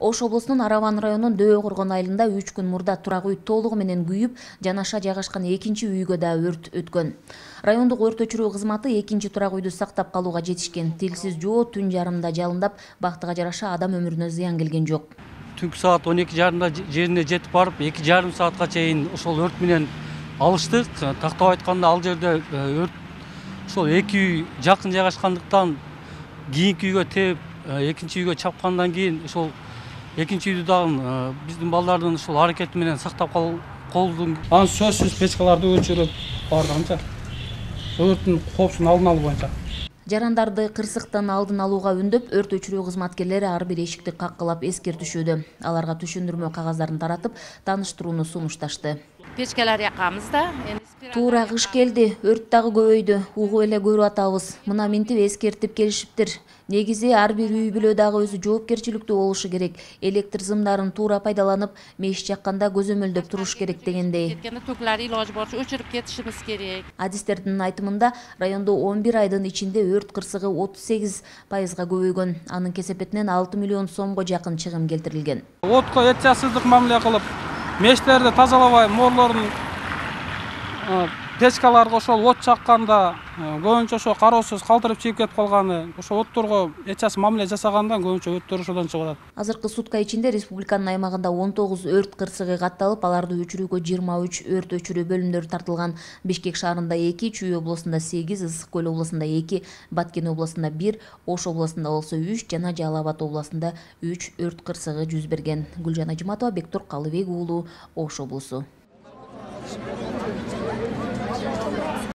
Ош облусунун Араван районунун Дөбө Коргон айылында 3 күн мурда турак үй толугу менен күйүп, жанаша жайгашкан экинчи үйгө да өрт өткөн. Райондук өрт өчүрүү кызматы экинчи турак үйдү сактап калууга жетишкен. Тилсиз жоо түн жарымда жалындап, бактыга жараша адам өмүрүнө зыян келген жок. Түнкү саат 12:30 жерине жетип барып, 2,5 саатка чейин ошол өрт менен алыштык. Тактап айтканда ал жерде өрт ошол эки үй жакын жайгашкандыктан кийинки үйгө тээп, экинчи үйгө чапкандан кийин ошол экинчи үйдү дагы биздин балдардын ушул аракети менен сактап калдым. Анан сөзсүз печкаларды өчүрүп бардыгынча өрттүн коопсуздугун алдын алуу боюнча. Жарандарды кырсыктын алдын алууга үндөп, өрт өчүрүү кызматкерлери ар бир эшикти каккылап эскертишүүдө. Аларга түшүндүрмө кагаздарын таратып, тааныштырууну сунушташты. Печкалар якабыз да. Туура кыш келди, өрт дагы көбөйдү. Угуп эле көрүп атабыз. Мына минтип эскертип келишиптир. Негизи ар бир үй бүлө дагы өзү жоопкерчиликтүү болушу керек. Электр сымдарын туура пайдаланып, меш жакканда көзөмөлдөп туруш керек дегендей. Токуларды илажы боюнча өчүрүп кетишибиз керек. Адистердин айтымында, райондо 11 айдын ичинде өрт кырсыгы 38%га көбөйгөн. Анын кесепетинен 6 миллион сомго жакын чыгым келтирилген. Отко этчасыздык мамиле кылып, мештерди тазалабай, морлорун печкаларга ошол от чакканда көбүнчө ошо кароосуз калтырып чыгып кетип калганы, ошо отторго этчасыз мамиле жасагандан көбүнчө өрттөр ошодон чыгып атат. Азыркы сутка ичинде республиканын аймагында 19 өрт кырсыгы катталып, аларды өчүрүүгө 23 өрт өчүрүү бөлүмдөрү тартылган. Бишкек шаарында 2, Чүй облусунда 8, Ысык көл облусунда 2, Баткен облусунда 1, Ош облусунда болсо 3 жана Жалал Абад облусунда 3 өрт кырсыгы жүз берген. Гүлжан Ажыматова, Бектур Калыбек уулу, Ош облусу.